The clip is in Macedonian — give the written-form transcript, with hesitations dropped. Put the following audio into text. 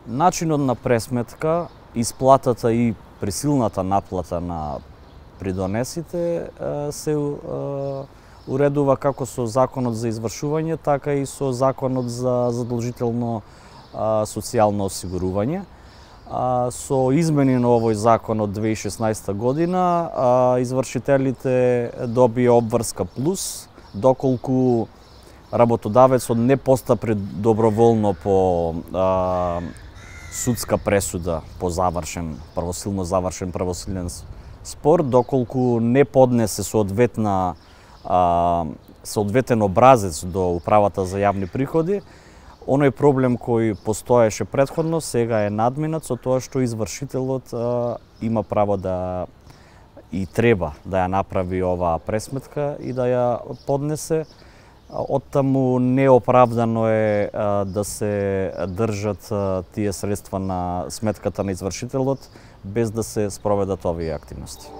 Начинот на пресметка, исплатата и присилната наплата на придонесите се уредува како со Законот за извршување, така и со Законот за задолжително социјално осигурување. Со измени на овој закон од 2016 година, извршителите добија обврска плюс, доколку работодавецот не постапи доброволно по судска пресуда по правосилно завршен правосилен спор, доколку не поднесе соодветен образец до Управата за јавни приходи, оној проблем кој постоеше претходно сега е надминат со тоа што извршителот има право да и треба да ја направи оваа пресметка и да ја поднесе. Оттаму неоправдано е да се држат тие средства на сметката на извршителот без да се спроведат овие активности.